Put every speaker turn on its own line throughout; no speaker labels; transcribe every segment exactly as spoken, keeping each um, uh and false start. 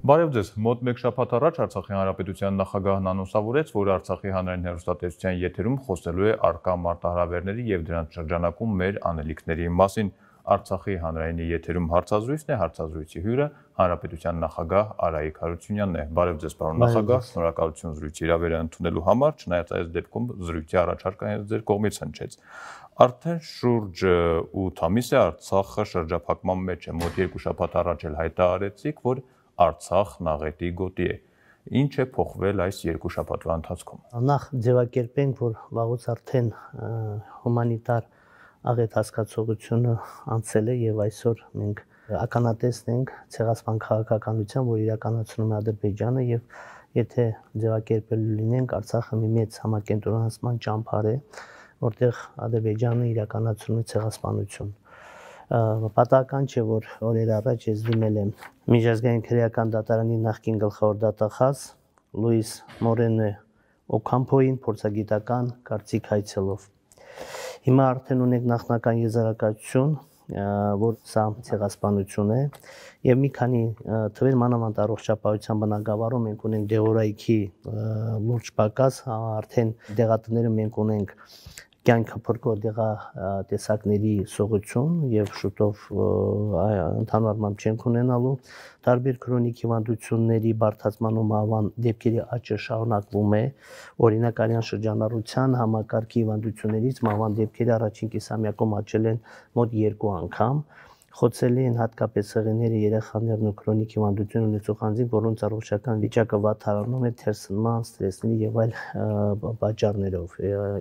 Բարև ձեզ, մոտ մեկ շաբաթ առաջ Արցախի Հանրապետության նախագահն անոնսավորեց, որ Արցախի հանրային հեռուստատեսության եթերում խոսելու է առկա մարտահրավերների եւ դրանց շրջանակում մեր անելիքների մասին։ Արցախի հանրայինի եթերում հարցազրույցն է, հարցազրույցի հյուրը Հանրապետության նախագահ Արայիկ Հարությունյանն է։ Բարև ձեզ, պարոն նախագահ, շնորհակալություն զրույցի հրավերը ընդունելու համար, չնայած այս դեպքում զրույցի առաջարկը հենց ձեր կողմից հնչեց։ Արդեն շուրջ ութ ամիս է Արցախը շրջափակման մեջ է, մոտ երկու շաբաթ առաջ էլ հայտարարեցիք, որ Արցախն աղետի գոտի է։ Ինչ է փոխվել այս երկու շաբաթվա ընթացքում։
Նախ ձևակերպենք, որ վաղուց արդեն հումանիտար աղետ հասկացողությունը անցել է եւ այսօր մենք ականատեսն ենք ցեղասպան քաղաքականության, որ իրականացնում է Ադրբեջանը եւ եթե ձևակերպելու լինենք, Արցախը մի մեծ համակենտրոնացման ճամփար է, որտեղ Ադրբեջանը իրականացնում է ցեղասպանություն։ Պատահական չէ, որ օրեր առաջ ես դիմել եմ Միջազգային քրեական դատարանի նախկին գլխավոր դատախազ Լուիս Մորենո Օքամփոյին փորձագիտական կարծիք հայցելով։ Հիմա արդեն ունենք նախնական եզրակացություն, որ սա ցեղասպանություն է եւ մի քանի թվեր մանավանդ առողջապահության բնագավառում մենք ունենք դեղորայքի լուրջ պակաս, արդեն դեղատները մենք ունենք կյանքը փրկող դեղատեսակների սողություն եւ շուտով ընդհանուր առմամբ չենք ունենալու տարբեր քրոնիկ հիվանդությունների բարդացման ու մահվան դեպքերի աճը շարունակվում է օրինակ արյան շրջանառության համակարգի հիվանդություններից մահվան դեպքերը առաջին կիսամյակում աճել են մոտ երկու անգամ խոցելի են հատկապես եղեները երեխաներն ու քրոնիկ հիվանդություն ունեցող անձինք, որոնց առողջական վիճակը վատթարանում է թերսնման, ստրեսների եւ այլ պատճառներով։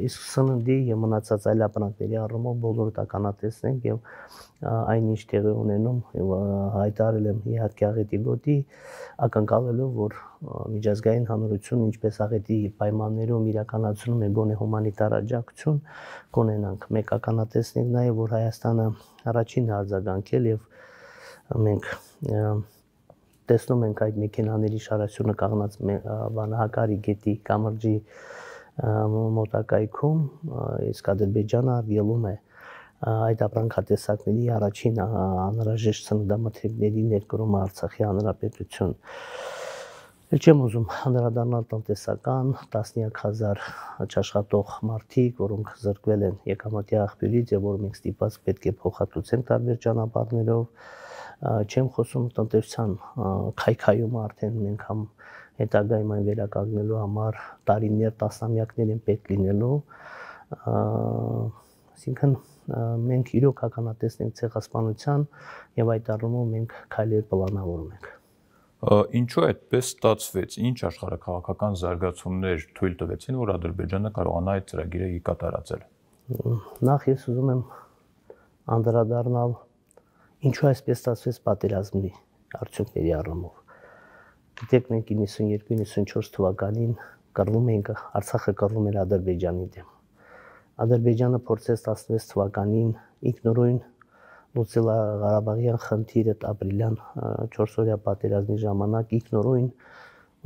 Իսկ սննդի եւ մնացած այլ ապրանքների առումով բոլորը ականատեսն ենք եւ այնինչ տեղի ունենում հայտարարել եմ իհարկե աղետի գոտի, ակնկալելով, որ միջազգային հանրությունը ինչպես աղետի պայմաններում իրականացնում է գոնե հումանիտար աջակցություն կունենանք։ Մեկ ականատեսն ենք նաեւ, որ Հայաստանը առաջին արձագանքել եւ մենք տեսնում ենք այդ մեքենաների շարասյունը կանգնած Վանահակարի գետի կամրջի մոտակայքում, իսկ Ադրբեջանը ելում է այդ ապրանքատեսակների առաջին անհրաժեշտ սննդամթերքների ներկրումը Արցախի Հանրապետություն։ Էլ չեմ ուզում անդրադառնալ տնտեսական տասնյակ հազար չաշխատող մարդիկ, որոնք զրկվել են եկամտի աղբյուրից եւ որ մենք ստիպված պետք է փոխհատուցենք տարբեր ճանապարհներով, չեմ խոսում տնտեսության քայքայումը արդեն մենք համ հետագայում այն վերականգնելու համար տարիներ, տասնամյակներ են պետք լինելու, այսինքն մենք իրոք ականատեսն ենք ցեղասպանության եւ այդ առումով մենք քայլեր պլանավորում ենք։
Ինչու այդպես ստացվեց, ինչ աշխարհաքաղաքական զարգացումներ թույլ տվեցին, որ Ադրբեջանը կարողանա այդ ծրագիրը կատարածել։
Նախ ես ուզում եմ անդրադառնալ ինչու այսպես ստացվեց պատերազմի արդյունքների առումով։ Գիտեք, մենք իննսունյոթ իննսունչորս թվականին կռվում էինք, Արցախը կռվում էր Ադրբեջանի դեմ։ Ադրբեջանը փորձեց տասնվեց թվականին ինքնուրույն լուծել Ղարաբաղյան խնդիրը ապրիլյան չորսօրյա պատերազմի ժամանակ ինքնուրույն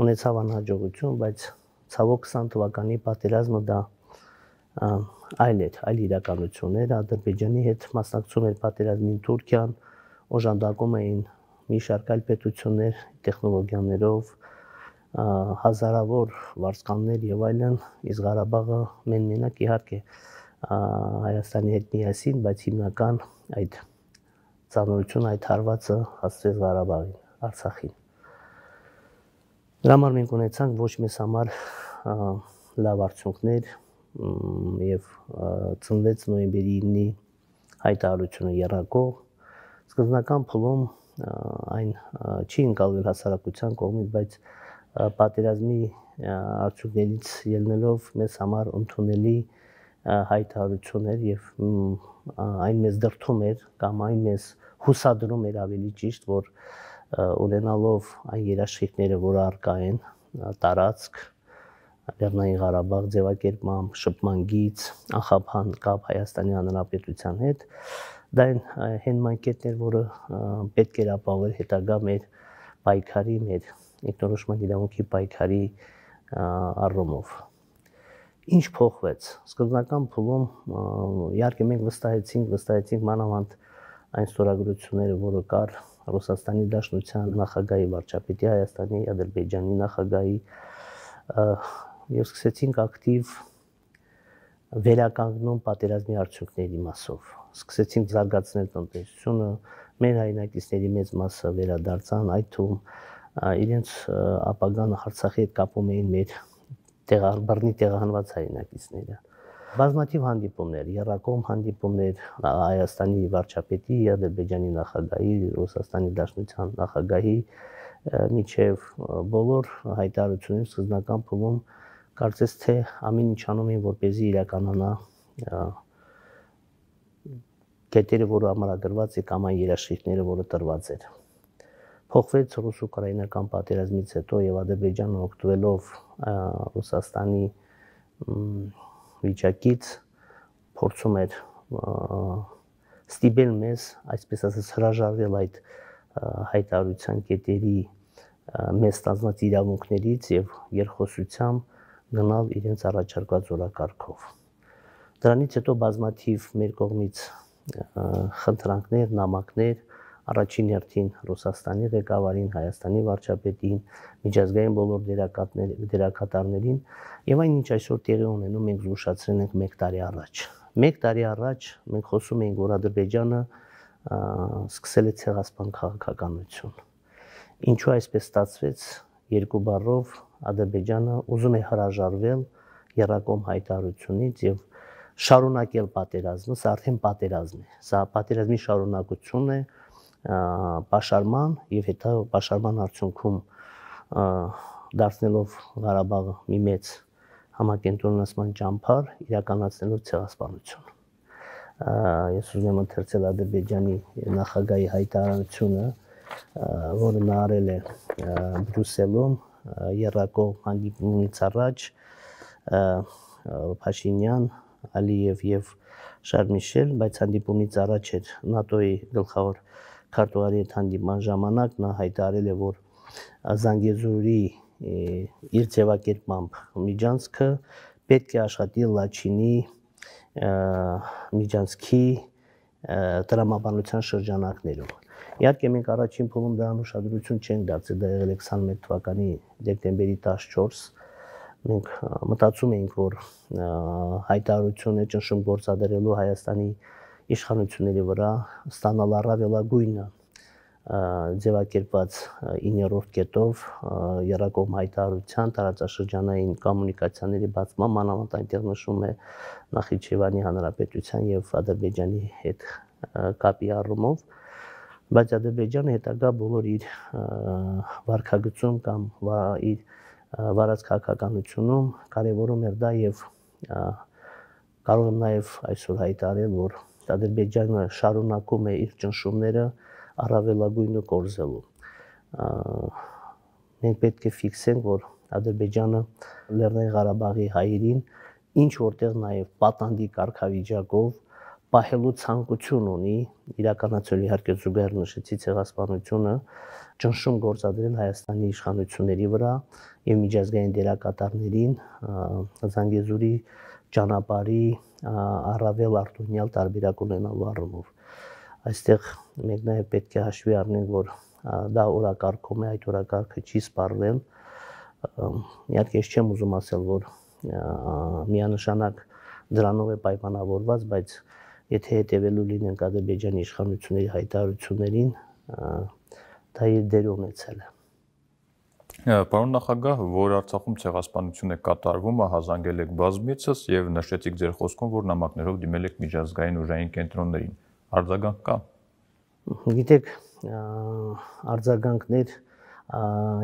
ունեցավ անհաջողություն, բայց ցավոք քսան թվականի պատերազմը դա այլ էր, այլ իրականություն էր, Ադրբեջանի հետ մասնակցում էր պատերազմին Թուրքիան, օժանդակում էին մի շարք այլ պետություններ տեխնոլոգիաներով, հազարավոր վարձկաններ եւ այլն, իսկ Ղարաբաղը մեն-մենակ իհարկե Հայաստանի հետ միասին, բայց հիմնական այդ ծանրությունը, այդ հարվածը հասցրեց Ղարաբաղին, Արցախին։ Դրա համար մենք ունեցանք ոչ մեզ համար լավ արդյունքներ եւ ծնվեց նոյեմբերի իննի հայտարարությունը եռակող սկզբնական փուլում այն չի ընկալվել հասարակության կողմից, բայց պատերազմի արդյունքներից ելնելով մեզ համար ընդունելի հայտարարություն էր եւ այն մեզ դրդում էր կամ այն մեզ հուսադրում էր ավելի ճիշտ, որ ունենալով այն երաշխիքները, որ առկա են տարածք Լեռնային Ղարաբաղ ձևակերպման, շփման գիծ, անխափան կապ Հայաստանի Հանրապետության հետ, դա այն հենման կետն էր, որը պետք էր ապահովել հետագա մեր պայքարի, մեր ինքնորոշման իրավունքի պայքարի առումով։ Ինչ փոխվեց։ Սկզբնական փուլում իհարկե մենք վստահեցինք, վստահեցինք մանավանդ այն ստորագրությունները, որը կար Ռուսաստանի Դաշնության նախագահի, վարչապետի Հայաստանի, Ադրբեջանի նախագահի եւ սկսեցինք ակտիվ վերականգնում պատերազմի արդյունքների մասով։ Սկսեցինք զարգացնել տնտեսությունը, մեր հայրենակիցների մեծ մասը վերադարձան, այդ թվում իրենց ապագան Արցախի հետ կապում էին մեր բռնի տեղահանված հայրենակիցները։ Բազմաթիվ հանդիպումներ, եռակողմ հանդիպումներ Հայաստանի վարչապետի, Ադրբեջանի նախագահի, Ռուսաստանի Դաշնության նախագահի միջև բոլոր հայտարարությունների սկզբնական փուլում կարծես թե ամեն ինչ անում էին, որպեսզի իրականանա կետերը, որը ամրագրված է կամ այն երաշխիքները, որը տրված էր։ Փոխվեց ռուս-ուկրաինական պատերազմից հետո եւ Ադրբեջանը օգտվելով Ռուսաստանի վիճակից փորձում էր ստիպել մեզ, այսպես ասած, հրաժարվել այդ հայտարարության կետերի մեզ ստանձնած իրավունքներից եւ երկխոսությամբ գնալ իրենց առաջարկված օրակարգով։ Դրանից հետո բազմաթիվ մեր կողմից խնդրանքներ, նամակներ առաջին հերթին Ռուսաստանի ղեկավարին, Հայաստանի վարչապետին, միջազգային բոլոր դերակատարներին եւ այն ինչ այսօր տեղի ունենում, մենք զգուշացրել ենք մեկ տարի առաջ։ Մեկ տարի առաջ մենք խոսում էինք, որ Ադրբեջանը սկսել է ցեղասպան քաղաքականություն։ Ինչու այսպես ստացվեց, երկու բառով Ադրբեջանը ուզում է հրաժարվել եռակողմ հայտարարությունից եւ շարունակել պատերազմը, սա արդեն պատերազմ է։ Սա պատերազմի շարունակություն է, պաշարման եւ հետո պաշարման արդյունքում դարձնելով Ղարաբաղը մի մեծ համակենտրոնացման ճամփար, իրականացնելով ցեղասպանություն։ Ես ուզում եմ ընթերցել Ադրբեջանի նախագահի հայտարարությունը, որը նա արել է Բրյուսելում եռակողմ հանդիպումից առաջ Փաշինյան, Ալիև եւ Շարլ Միշել, բայց հանդիպումից առաջ էր ՆԱՏՕ-ի գլխավոր քարտուղարի հետ հանդիպման ժամանակ նա հայտարարել է, որ Զանգեզուրի իր ձևակերպմամբ միջանցքը պետք է աշխատի Լաչինի միջանցքի տրամաբանության շրջանակներում։ Իհարկե մենք առաջին փուլում դրան ուշադրություն չենք դարձել, դա եղել է քսաներկու թվականի դեկտեմբերի տասնչորս, մենք մտածում էինք, որ հայտարարությունը ճնշում գործադրելու Հայաստանի իշխանությունների վրա ստանալ առավելագույնը ձևակերպված իններորդ կետով եռակողմ հայտարարության տարածաշրջանային կոմունիկացիաների բացման, մանավանդ այնտեղ նշվում է Նախիջևանի Հանրապետության եւ Ադրբեջանի հետ կապի առումով, բայց Ադրբեջանը հետագա բոլոր իր վարքագծում կամ իր վարած քաղաքականությունում կարևորում էր դա եւ կարող եմ նաեւ այսօր հայտարարել, որ Ադրբեջանը շարունակում է իր ճնշումները առավելագույնը կորզելու։ Մենք պետք է ֆիքսենք, որ Ադրբեջանը Լեռնային Ղարաբաղի հայերին ինչ որտեղ նաեւ պատանդի կարգավիճակով պահելու ցանկություն ունի, իրականացնել իհարկե զուգահեռ նշեցի ցեղասպանությունը, ճնշում գործադրել Հայաստանի իշխանությունների վրա եւ միջազգային դերակատարներին Զանգեզուրի ճանապարհի առավել արտոնյալ տարբերակ ունենալու առումով։ Այստեղ մենք նաեւ պետք է հաշվի առնենք, որ դա օրակարգում է, այդ օրակարգը չի սպառվել։ Իհարկե ես չեմ ուզում ասել, որ միանշանակ դրանով է պայմանավորված, բայց եթե հետևելու լինենք Ադրբեջանի իշխանությունների հայտարարություններին, դա իր դեր ունեցել է։
Պարոն նախագահ, որ Արցախում ցեղասպանություն է կատարվում, ահազանգել եք բազմիցս եւ նշեցիք ձեր խոսքում, որ նամակներով դիմել եք միջազգային ուժային կենտրոններին։ Արձագանք կա։
Գիտեք, արձագանքներ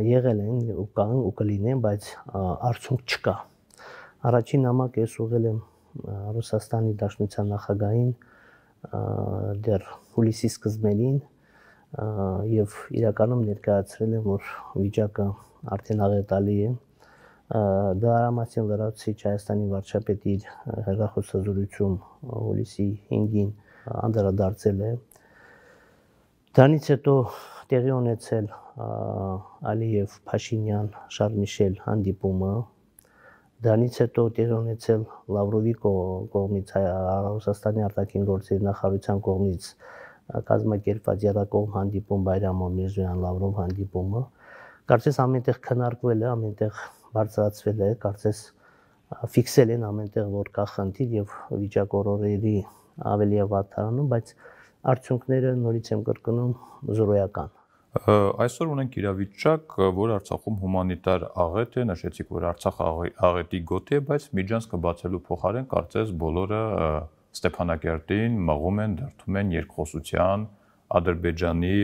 եղել են ու կան ու կլինեն, բայց արդյունք չկա։ Առաջին նամակ ես ուղղել եմ Ռուսաստանի Դաշնության նախագահին դեռ հուլիսի սկզբներին եւ իրականում ներկայացրել եմ, որ վիճակը արդեն աղետալի է։ Դրամատիկ լրացուցիչ Հայաստանի վարչապետի հերրախոսազրույցում հուլիսի հինգին անդրադարձել է։ Դրանից հետո տեղի ունեցել Ալիև Փաշինյան Շարլ Միշել հանդիպումը։ Դրանից հետո տեղի ունեցել Լավրովի կողմից Ռուսաստանի արտաքին գործերի նախարարության կողմից կազմակերպված եռակողմ հանդիպում Բայրամով Միրզոյան Լավրով հանդիպումը, կարծես ամենտեղ քննարկվել է, ամենտեղ բարձրացվել է, կարծես ֆիքսել են ամենտեղ, որ կա խնդիր եւ վիճակորորերի ավելի է վատթարանում, բայց արդյունքները նորից եմ կրկնում զրոյական։
Այսօր ունենք իրավիճակ, որ Արցախում հումանիտար աղետ է, նշեցիք, որ Արցախ աղետի գոտի է, բայց միջանցքը բացելու փոխարեն կարծես բոլորը Ստեփանակերտին մղում են, դրդում են երկխոսության Ադրբեջանի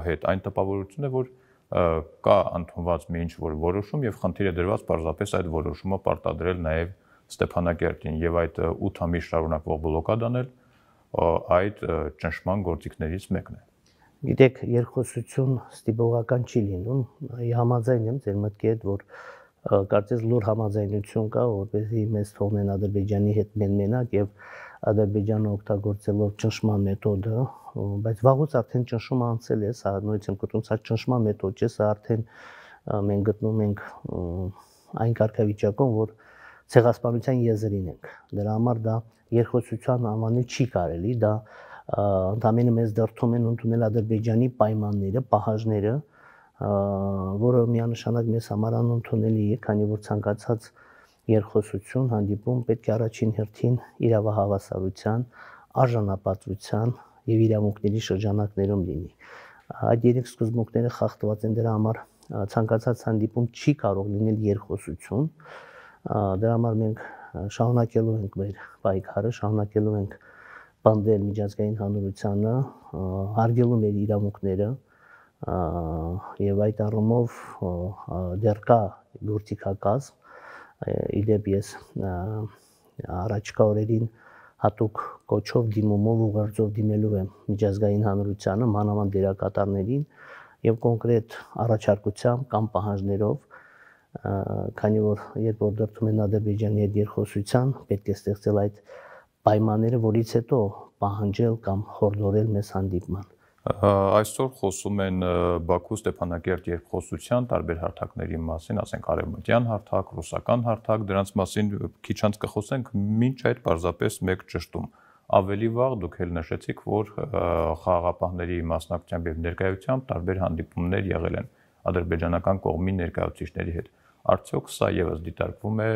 հետ։ Այն տպավորությունն է, որ կա ընդունված մի ինչ-որ որոշում եւ խնդիր է դրված պարզապես այդ որոշումը պարտադրել նաեւ Ստեփանակերտին եւ այդ ութ ամիս շարունակվող բլոկադան էլ այդ ճնշման գործիքներից մեկն է։
Գիտեք, երկխոսություն ստիպողական չի լինում, համաձայն եմ ձեր մտքի հետ, որ կարծես լուր համաձայնություն կա, որպեսզի մեզ թողնեն Ադրբեջանի հետ մենմենակ եւ Ադրբեջանը օգտագործելով ճնշման մեթոդը, բայց վաղուց արդեն ճնշումը անցել է, սա նույնիսկ եմ կոչում, սա ճնշման մեթոդ չէ, սա արդեն մենք գտնում ենք այն կարգավիճակում, որ ցեղասպանության եզրին ենք։ Դրա համար դա երկխոսության անվանել չի կարելի, դա ընդամենը մեզ դրդում են ընդունել Ադրբեջանի պայմանները, պահանջները, որը միանշանակ մեզ համար անընդունելի է, քանի որ ցանկացած երկխոսություն, հանդիպում պետք է առաջին հերթին իրավահավասարության, արժանապատվության եւ իրավունքների շրջանակներում լինի։ Այդ երեք սկզբունքները խախտված են, դրա համար ցանկացած հանդիպում չի կարող լինել երկխոսություն։ Դրա համար մենք շարունակելու ենք մեր պայքարը, շարունակելու ենք պնդել միջազգային հանրությանը, հարգելու մեր իրավունքները եւ այդ առումով դեռ կա գործիքակազմ։ Իդեպ ես առաջկա օրերին հատուկ կոչով դիմումով ուղերձով դիմելու եմ միջազգային հանրությանը, մանավանդ դերակատարներին եւ կոնկրետ առաջարկությամբ կամ պահանջներով, քանի որ երբ որ դրդում են Ադրբեջանի հետ երկխոսության, պետք է ստեղծել այդ պայմանները, որից հետո պահանջել կամ խորհուրդել մեզ հանդիպման։
Այսօր խոսում են Բաքու Ստեփանակերտ երկխոսության տարբեր հարթակների մասին, ասենք արևմտյան հարթակ, ռուսական հարթակ, դրանց մասին քիչ անց կխոսենք, մինչ այդ պարզապես մեկ ճշտում։ Ավելի վաղ դուք էլ նշեցիք, որ խաղաղապահների մասնակցությամբ եւ ներկայությամբ տարբեր հանդիպումներ եղել են ադրբեջանական կողմի ներկայացուցիչների հետ։ Արդյոք սա եւս դիտարկվում է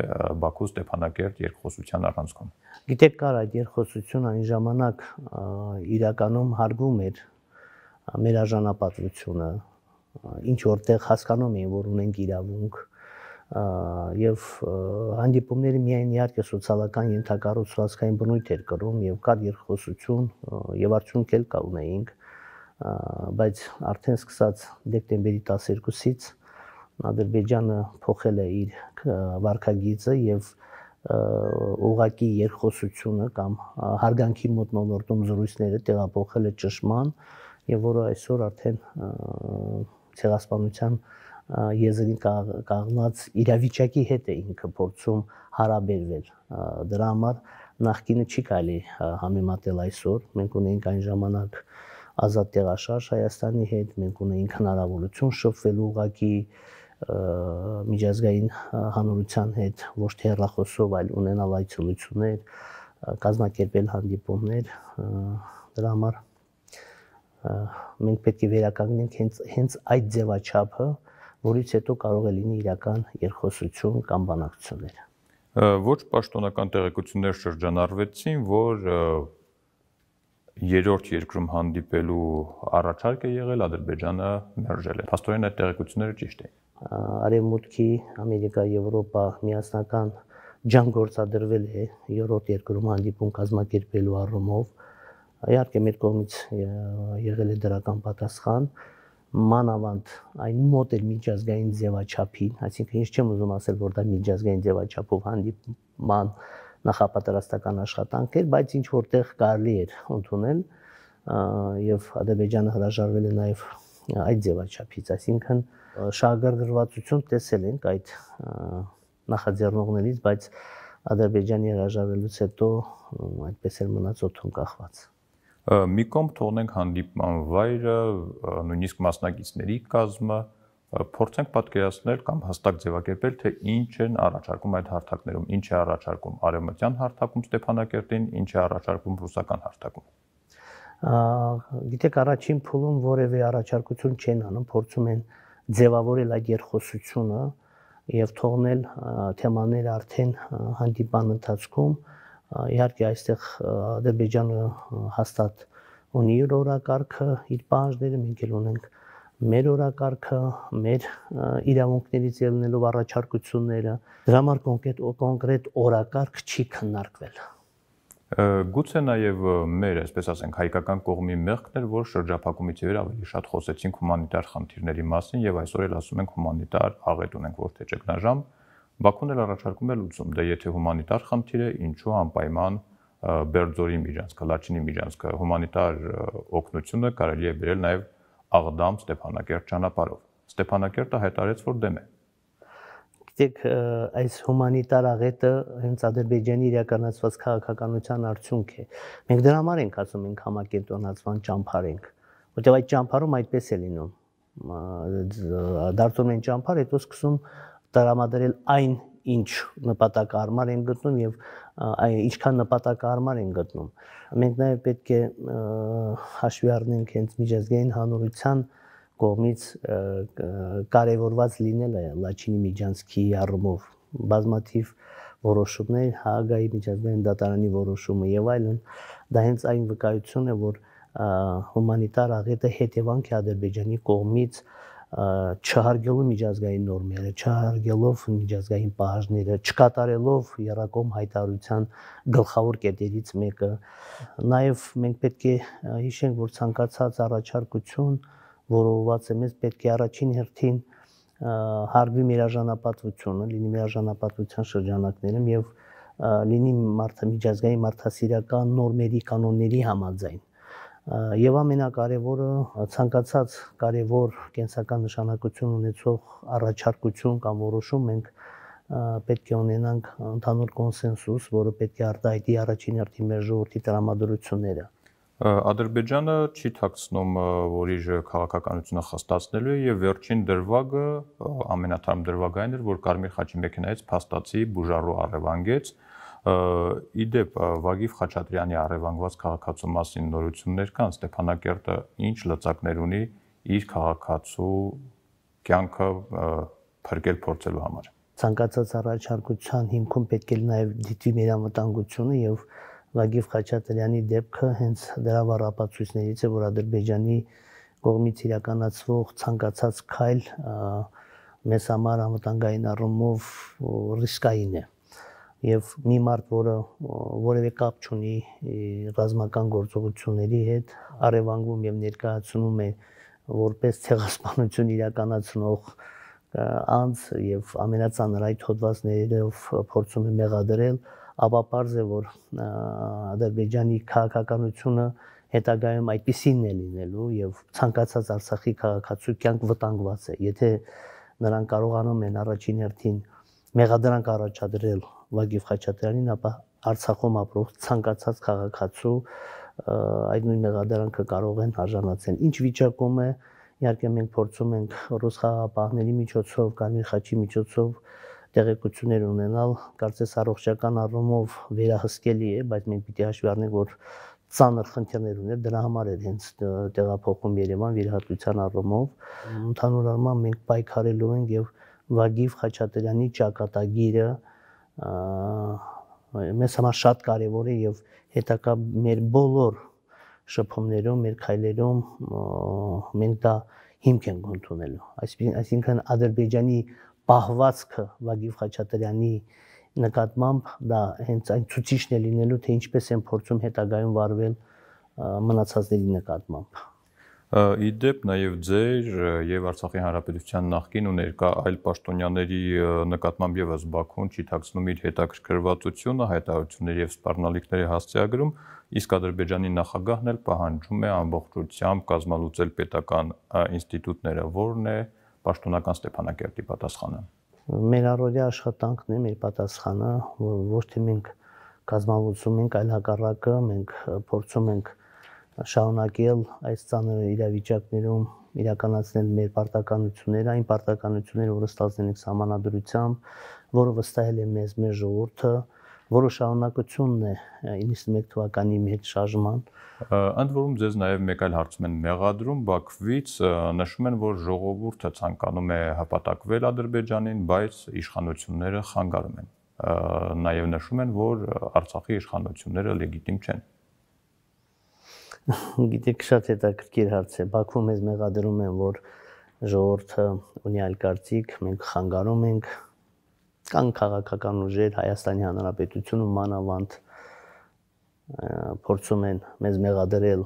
Բաքու Ստեփանակերտ երկխոսության առանցքում։
Գիտեք, կար այդ երկխոսությունը այն ժամանակ իրականում հարգում էր մեր արժանապատվությունը, ինչ որտեղ հասկանում էին, որ ունենք իրավունք եւ հանդիպումները միայն իհարկե սոցիալական ենթակառուցվածքային բնույթ էր կրում եւ կար երկխոսություն եւ արդյունք էլ կա ունեինք, բայց արդեն սկսած դեկտեմբերի տասներկուսից Ադրբեջանը փոխել է իր վարքագիծը եւ ուղղակի երկխոսությունը կամ հարգանքի մոտնոլորտում զրույցները տեղափոխել է ճշմարտ եւ որը այսօր արդեն ցեղասպանության եզրին կանգնած իրավիճակի հետ է ինքը փորձում հարաբերվել։ Դրա համար նախկինը չի կարելի համեմատել այսօր։ Մենք ունենք այն ժամանակ ազատ տեղաշարժ Հայաստանի հետ, մենք ունենք հնարավորություն շփվելու ուղղակի միջազգային հանրության հետ, ոչ թե հեռախոսով, այլ ունենալ այցելություններ, կազմակերպել հանդիպումներ։ Դրա համար մենք պետք է վերականգնենք հենց հենց այդ ձևաչափը, որից հետո կարող է լինի իրական երկխոսություն կամ բանակցություններ։
Ոչ պաշտոնական տեղեկություններ շրջանառվեցին, որ երրորդ երկրում հանդիպելու առաջարկ է եղել, Ադրբեջանը մերժել է։ Փաստորեն այդ տեղեկությունները ճիշտ են։
Արևմուտքի, Ամերիկա, Եվրոպա միասնական ջանք գործադրվել է երրորդ երկրում հանդիպում կազմակերպելու առումով։ Իհարկե մեր կողմից եղել է դրական պատասխան, մանավանդ այն մոտ էր միջազգային ձևաչափին, այսինքն ես չեմ ուզում ասել, որ դա միջազգային ձևաչափով հանդիպման նախապատրաստական աշխատանք էր, բայց ինչ որտեղ կարելի էր ընդունել եւ Ադրբեջանը հրաժարվել է նաեւ այդ ձևաչափից, այսինքն շահագրգռվածություն տեսել ենք այդ նախաձեռնողներից, բայց Ադրբեջանի հրաժարվելուց հետո այդպես էլ մնաց օդում կախված։
Մի կողմ թողնենք հանդիպման վայրը, նույնիսկ մասնակիցների կազմը, փորձենք պատկերացնել կամ հստակ ձևակերպել, թե ինչ են առաջարկում այդ հարթակներում, ինչ է առաջարկում արևմտյան հարթակում Ստեփանակերտին, ինչ է առաջարկում ռուսական հարթակում։
Գիտեք, առաջին փուլում որևէ առաջարկություն չեն անում, փորձում են ձևավորել այդ երկխոսությունը եւ թողնել թեմաները արդեն հանդիպան ընթացքում։ Իհարկե այստեղ Ադրբեջանը հաստատ ունի իր օրակարգը, իր պահանջները, մենք էլ ունենք մեր օրակարգը, մեր իրավունքներից ելնելով առաջարկությունները, դրա համար կոնկրետ կոնկրետ օրակարգ չի քննարկվել։
Գուցե նաև մեր, այսպես ասենք, հայկական կողմի մեղքն էր, որ շրջափակումից ի վեր ավելի շատ խոսեցինք հումանիտար խնդիրների մասին եւ այսօր էլ ասում ենք հումանիտար աղետ ունենք, որ թե ճգնաժամ, Բաքուն էլ առաջարկում է լուծում, դե եթե հումանիտար խնդիր է, ինչու անպայման Բերձորի միջանցքը, Լաչինի միջանցքը, հումանիտար օգնությունը կարելի է բերել նաև Աղդամ Ստեփանակերտ ճանապարհով։ Ստեփանակերտը հայտարարեց, որ դեմ է։
Գիտեք, այս հումանիտար աղետը հենց Ադրբեջանի իրականացված քաղաքականության արդյունք է։ Մենք դրա համար ենք ասում, ենք համակենտրոնացման ճամփար ենք, որտեղ այդ ճամփարում այդպես է լինում։ Դարձում են ճամփար, հետո սկսում տրամադրել այն, ինչ նպատակահարմար են գտնում եւ ինչքան նպատակահարմար են գտնում։ Մենք նաեւ պետք է հաշվի առնենք հենց միջազգային հանրության կողմից կարևորված լինելը Լաչինի միջանցքի առումով բազմաթիվ որոշումներ, Հաագայի միջազգային դատարանի որոշումը եւ այլն, դա հենց այն վկայությունն է, որ հումանիտար աղետը հետևանք է Ադրբեջանի կողմից չհարգելով միջազգային նորմերը, չհարգելով միջազգային պահանջները, չկատարելով Եռակոմ հայտարարության գլխավոր կետերից մեկը։ Նաև մենք պետք է հիշենք, որ ցանկացած առաջարկություն, որը ուղղված է մեզ, պետք է առաջին հերթին հարգվի միաժանապատվությունը, լինի միաժանապատվության շրջանակներում եւ լինի միջազգային մարդասիրական նորմերի, կանոնների համաձայն։ Եվ ամենակարևորը ցանկացած կարևոր կենսական նշանակություն ունեցող առաջարկություն կամ որոշում մենք պետք է ունենանք ընդհանուր կոնսենսուս, որը պետք է արտահայտի առաջին հերթին մեր ժողովրդի տրամադրությունները։
Ադրբեջանը չի թաքցնում, որ իր քաղաքականությունը խստացնելու է եւ վերջին դրվագը, ամենաթարմ դրվագը այն էր, որ Կարմիր խաչի մեքենայից փաստացի բուժառու առևանգեց։ Իդեպ Վագիվ Խաչատրյանի առևանգված քաղաքացու մասին նորություններ կան, Ստեփանակերտը ինչ լծակներ ունի իր քաղաքացու կյանքը փրկել փորձելու համար։
Ցանկացած առաջարկության հիմքում պետք է նաև դիտվի մեր անվտանգությունը եւ Վագիվ Խաչատրյանի դեպքը հենց դրա վառապացույցներից է, որ Ադրբեջանի կողմից իրականացվող ցանկացած քայլ մեզ համար անվտանգային առումով ռիսկային է։ Եվ մի մարդ, որը որևէ կապ չունի ռազմական գործողությունների հետ, առևանգվում եւ ներկայացնում է որպես ցեղասպանություն իրականացնող անձ եւ ամենածանր այդ հոդվածներով փորձում է մեղադրել, ապա պարզ է, որ Ադրբեջանի քաղաքականությունը հետագայում այդպիսին է լինելու եւ ցանկացած Արցախի քաղաքացու կյանք վտանգված է։ Եթե նրանք կարողանում են առաջին հերթին մեղադրանք առաջադրել Վագիվ Խաչատրյանին, ապա Արցախում ապրող ցանկացած քաղաքացու այդ նույն մեղադրանքը կարող են արժանացնել։ Ինչ վիճակում է, իհարկե մենք փորձում ենք ռուս խաղաղապահների միջոցով, Կարմիր խաչի միջոցով տեղեկություններ ունենալ, կարծես առողջական առումով վերահսկելի է, բայց մենք պիտի հաշվի առնենք, որ ծանր խնդիրներ ուներ, դրա համար էր հենց տեղափոխում Երևան վիրահատության առումով։ Ընդհանուր առմամբ մենք պայքարելու ենք եւ Վագիվ Խաչատրյանի ճակատագիրը մեզ համար շատ կարևոր է եւ հետագա մեր բոլոր շփումներում, մեր քայլերում մենք դա հիմք ենք ընդունելու։ Այսինքն Ադրբեջանի պահվածքը Վագիվ Խաչատրյանի նկատմամբ դա հենց այն ցուցիչն է լինելու, թե ինչպես են փորձում հետագայում վարվել մնացածների նկատմամբ։
Իդեպ նաև ձեր եւ Արցախի Հանրապետության նախկին ու ներկա այլ պաշտոնյաների նկատմամբ եւս Բաքուն չի թաքցնում իր հետաքրքրվածությունը, հայտարարությունների եւ սպառնալիքների հասցեագրում, իսկ Ադրբեջանի նախագահն էլ պահանջում է ամբողջությամբ կազմալուծել պետական ինստիտուտները, որն է պաշտոնական Ստեփանակերտի պատասխանը։
Մեր առօրյա աշխատանքն է, մեր պատասխանը, ոչ թե մենք կազմալուծում ենք, այլ հակառակը մենք փորձում ենք շարունակել այս ծանր իրավիճակներում իրականացնել մեր պարտականությունները, այն պարտականությունները, որը ստացել ենք սահմանադրությամբ, որը վստահել է մեզ մեր ժողովուրդը, որը շարունակությունն է իննսունմեկ թվականի մեծ շարժման։
Ընդ որում ձեզ նաև մեկ այլ հարցում են մեղադրում Բաքվից, նշում են, որ ժողովուրդը ցանկանում է հպատակվել Ադրբեջանին, բայց իշխանությունները խանգարում են։ Նաև նշում են, որ Արցախի իշխանությունները լեգիտիմ չեն։
Գիտեք, շատ հետաքրքիր հարց է։ Բաքվում մեզ մեղադրում են, որ ժողովուրդը ունի այլ կարծիք, մենք խանգարում ենք, կան քաղաքական ուժեր, Հայաստանի Հանրապետությունը մանավանդ փորձում են մեզ մեղադրել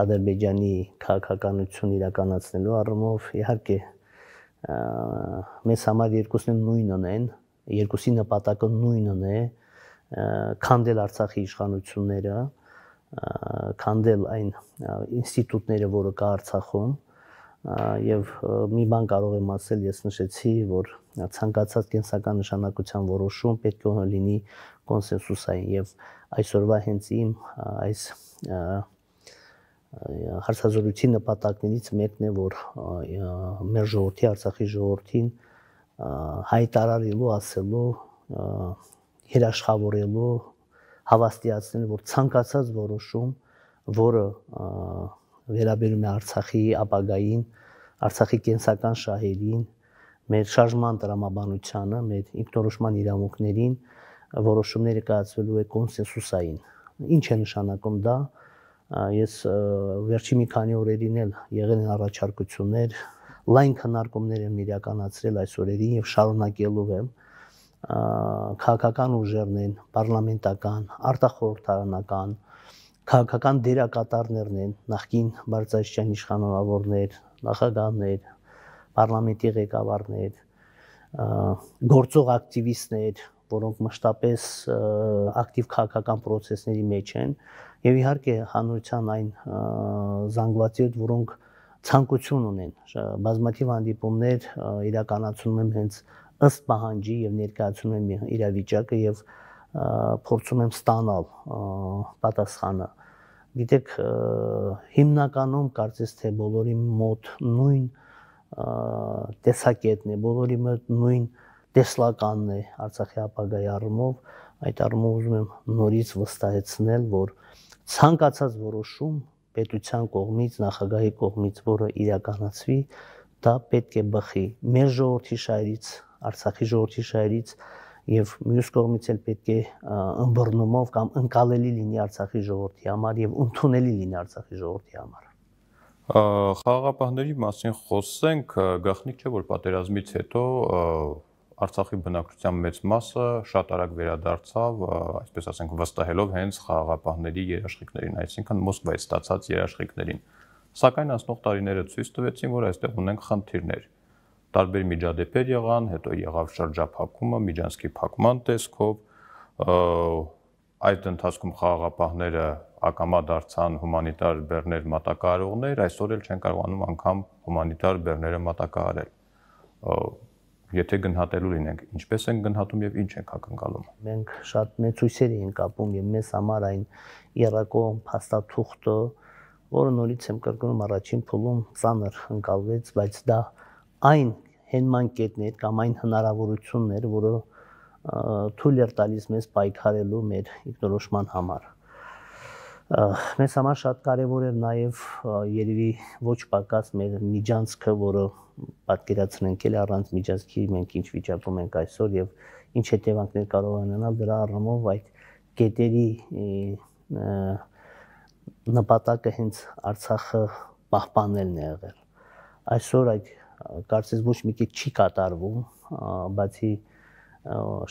Ադրբեջանի քաղաքականություն իրականացնելու առումով, իհարկե մեզ համար երկուսն նույնն են, երկուսի նպատակը նույնն է, քանդել Արցախի իշխանությունները, քանդել այն ինստիտուտները, որը կա Արցախում, եւ մի բան կարող եմ ասել, ես նշեցի, որ ցանկացած կենսական նշանակության որոշում պետք է լինի կոնսենսուսային եւ այսօրվա հենց իմ այս հարցազրույցի նպատակներից մեկն է, որ մեր ժողովրդի, Արցախի ժողովրդին հայտարարելու, ասելու, երաշխավորելու, հավաստիացնել, որ ցանկացած որոշում, որը վերաբերում է Արցախի ապագային, Արցախի կենսական շահերին, մեր շարժման տրամաբանությանը, մեր ինքնորոշման իրավունքներին, որոշումները կայացվելու է կոնսենսուսային։ Ինչ է նշանակում դա։ Ես վերջի մի քանի օրերին էլ եղել են առաջարկություններ, լայն քննարկումներ եմ իրականացրել այս օրերին եւ շարունակելու եմ։ Քաղաքական ուժերն են, պարլամենտական, արտախորհրդարանական, քաղաքական դերակատարներն են, նախկին բարձրաստիճան իշխանավորներ, նախագահներ, պարլամենտի ղեկավարներ, գործող ակտիվիստներ, որոնք մշտապես ակտիվ քաղաքական պրոցեսների մեջ են, եւ իհարկե հանրության այն զանգվածներ, որոնք ցանկություն ունեն, բազմաթիվ հանդիպումներ իրականացնում եմ հենց ըստ պահանջի եւ ներկայացնում եմ իրավիճակը եւ փորձում եմ ստանալ պատասխանը։ Գիտեք, հիմնականում կարծես թե բոլորի մոտ նույն տեսակետն է, բոլորի մոտ նույն տեսլականն է Արցախի ապագայի առումով, այդ առումով ուզում եմ նորից վստահեցնել, որ ցանկացած որոշում պետության կողմից, նախագահի կողմից, որը իրականացվի, դա պետք է բխի մեր ժողովրդի շահերից, Արցախի ժողովրդի շահերից եւ մյուս կողմից էլ պետք է ըմբռնումով կամ ընկալելի լինի Արցախի ժողովրդի համար եւ ընդունելի լինի Արցախի ժողովրդի համար։
Խաղաղապահների մասին խոսենք, գաղտնիք չէ, որ պատերազմից հետո Արցախի բնակչության մեծ մասը շատ արագ վերադարձավ, այսպես ասենք, վստահելով հենց խաղաղապահների երաշխիքներին, այսինքն Մոսկվայից ստացած երաշխիքներին։ Սակայն անցնող տարիները ցույց տվեցին, որ այստեղ ունենք խնդիրներ։ Տարբեր միջադեպեր եղան, հետո եղավ շրջափակումը, Միջանցքի փակման տեսքով, այդ ընթացքում խաղաղապահները ակամա դարձան հումանիտար բեռներ մատակարարողներ, այսօր էլ չեն կարողանում անգամ հումանիտար բեռները մատակարարել։ Եթե գնահատելու լինենք, ինչպես են գնահատում եւ ինչ ենք ակնկալում։
Մենք շատ մեծ հույսեր ենք կապում եւ մեզ համար այն երակոմ փաստաթուղթը, որը նորից եմ կրկնում առաջին փուլում ծանր ընկալվեց, բայց դա այն հենման կետն էր կամ այն հնարավորությունն էր, որը թույլ էր տալիս մեզ պայքարելու մեր ինքնորոշման համար։ Մեզ համար շատ կարևոր էր նաև երևի ոչ պակաս մեր միջանցքը, որը պատկերացնենք էլ առանց միջանցքի մենք ինչ վիճակում ենք այսօր եւ ինչ հետևանքներ կարող ունենալ, դրա առումով այդ կետերի նպատակը հենց Արցախը պահպանելն է եղել։ Այսօր այդ կարծես ոչ մի կետ չի կատարվում, բացի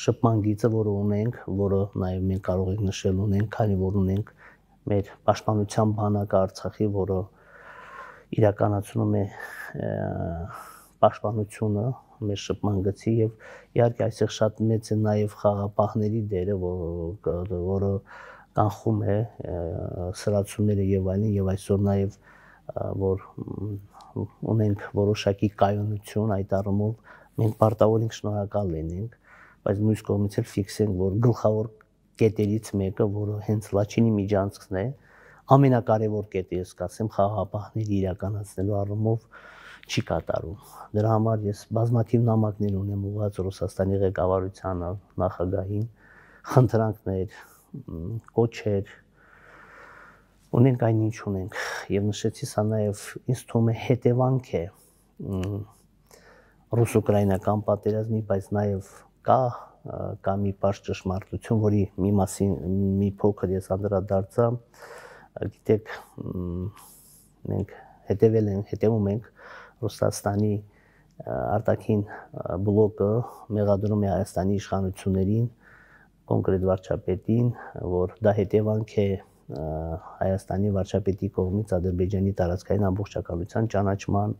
շփման գիծը, որը ունենք, որը նաև մենք կարող ենք նշել ունենք, քանի որ ունենք մեր պաշտպանության բանակը Արցախի, որը իրականացնում է պաշտպանությունը մեր շփման գծի եւ իհարկե այստեղ շատ մեծ է նաև խաղաղապահների դերը, որը կանխում է սրացումները եւ այլն եւ այսօր նաև որ ունենք որոշակի կայունություն, այդ առումով մենք պարտավոր ենք շնորհակալ լինենք, բայց մյուս կողմից էլ ֆիքսենք, որ գլխավոր կետերից մեկը, որը հենց Լաչինի միջանցքն է, ամենակարևոր կետը, ես կասեմ, խաղաղապահների իրականացնելու առումով չի կատարում։ Դրա համար ես բազմաթիվ նամակներ ունեմ ուղղված Ռուսաստանի ղեկավարությանը, նախագահին, խնդրանքներ, կոչեր, ունենք այնինչ ունենք, եւ նշեցի, սա նաեւ ինձ թվում է հետևանք է ռուս-ուկրաինական պատերազմի, բայց նաեւ կա կա մի բարձ ճշմարտություն, որի մի մասին մի փոքր ես անդրադարձա, գիտեք, մենք հետևել ենք, հետևում ենք Ռուսաստանի արտաքին բլոկը մեղադրում է Հայաստանի իշխանություններին, կոնկրետ վարչապետին, որ դա հետևանք է Հայաստանի վարչապետի կողմից Ադրբեջանի տարածքային ամբողջականության ճանաչման,